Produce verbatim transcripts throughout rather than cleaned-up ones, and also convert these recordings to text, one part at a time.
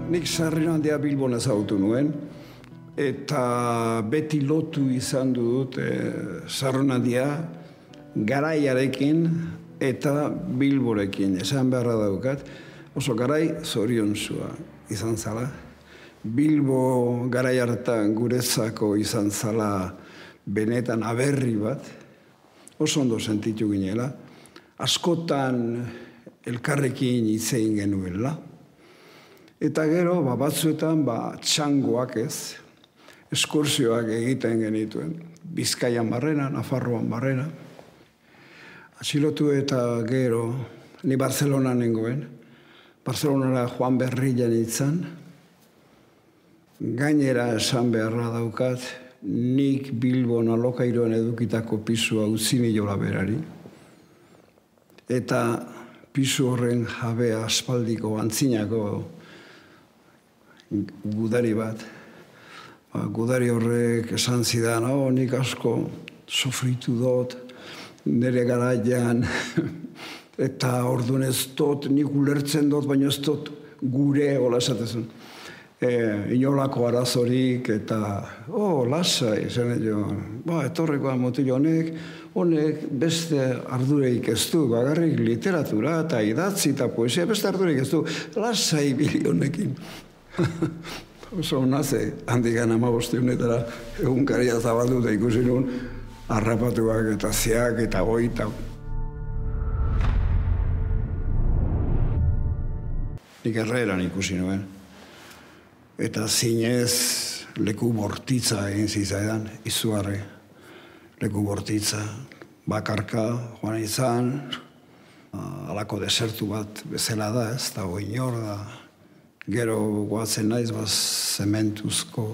Nik Sarrionandia Bilbon ezagutu nuen, eta beti lotu izan dut e, Sarrionandia garaiarekin eta Bilborekin. Esan beharra daukat, oso garai zoriontsua izan zala. Bilbo garai hartan guretzako izan zala benetan aberri bat, oso ondo sentitu ginela. Askotan elkarrekin hitz egin genuela. Eta gero, ba, batzuetan, ba, txangoak ez, eskursioak egiten genituen. Bizkaian barrena, Nafarroan barrena. Atxilotu eta gero, ni Barcelona nengoen. Barcelonara Juan Berrian itzan. Gainera esan beharra daukat, nik Bilbon alokairuan edukitako pisua utzi niola berari. Eta pisu horren jabea aspaldiko antzinako gudari bat. Ba, gudari horrek esan zidan, oh, nik asko sofritu dut, nire garaian, eta orduan ez dut, nik ulertzen dut, baina ez dut gure, hola esatezun. E, inolako arazorik, eta, oh, lasai, zen jo, ba, etorrekoa motil honek, honek beste ardureik ez du, bagarrik literatura eta idatzi eta poesia, beste ardureik ez du, lasai bili honekin. Oso naze, handikan amabosti honetara egunkaria zabaldu eta ikusi nuen, harrapatuak eta zeak eta goita. Nik Herreran ikusi nuen. Eta zinez leku bortitza egin zizaidan, izugarri. Leku bortitza, bakarka, joan izan, halako desertu bat bezala da, ez da, oinor da. Gero goatzen naiz, baz, zementuzko,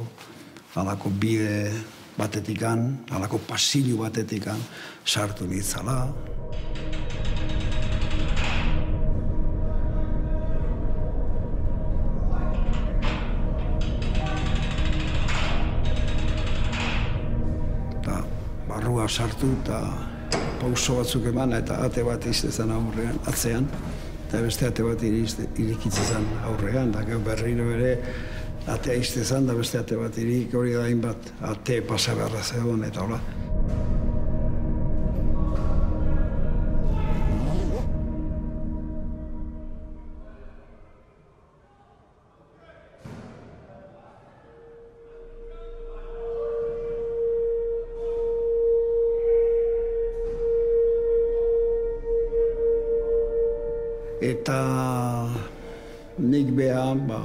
halako bide batetikan, halako pasilu batetikan, sartu nitzala. Barrua sartu eta pauso batzuk eman eta ate bat iztezan aurrean, atzean, eta beste ate bat irikitzezan aurrean, da gero berriro ere atea iztezan, da beste ate bat irik, hori da hainbat ate pasagarra zegoen eta hola. Eta nik beha, ba,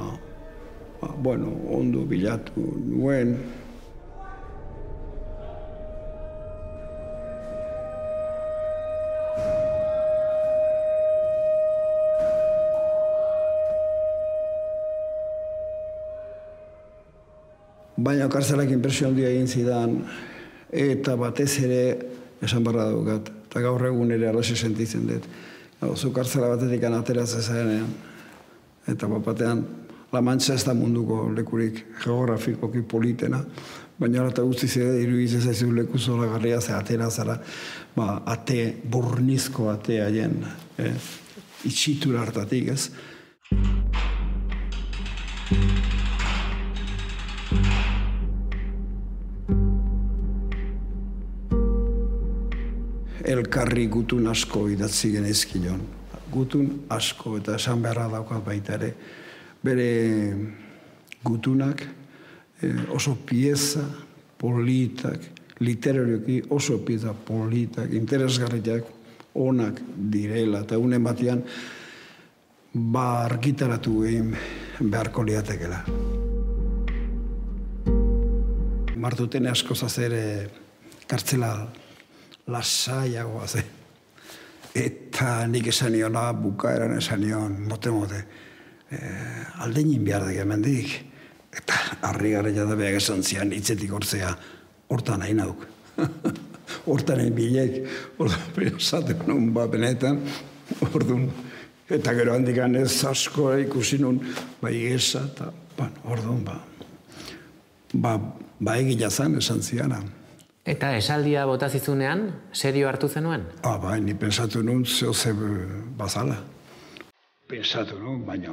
ba, bueno, ondo bilatu nuen. Baina kartzelak inpresio handia egin zidan, eta batez ere esan barra daukat, eta gaur egun ere arrazi sentitzen dut. Zu kartzela batetik ateratzen zarenean, eta bapatean La Mancha ez da munduko lekurik geografikoki politena, baina eta guztiz ere iruditzen zaizu leku zoragarria ze atera zara, ba, ate, burnizko ate haien, eh, itxitura hartatik, ez? Elkarri gutun asko idatzi genezkion. Gutun asko, eta esan beharra daukat baita ere. Bere gutunak oso pieza politak, literarioki oso pieza politak, interesgarriak, onak direla, eta unen batean ba argitaratu egin beharko liatekela. Martutene asko zazere kartzela lasaiagoa ze. Eta nik esan niona, bukaeran esan nion, mote-mote, eh, aldeinin behar da hemendik. Eta harri garria da behar esan zian, hitzetik hortzea, hortan nahi nauk. Hortan nahi bilek, hortan esaten nun, ba, benetan, orduan. Eta gero handikan ez asko ikusi nun, bai esa, eta, bueno, orduan, ba, ba, ba egila zan esan ziana. Eta esaldia botazizunean, serio hartu zenuen? Ah, bai, ni pensatu nun zeo ze bazala. Pensatu nun, baina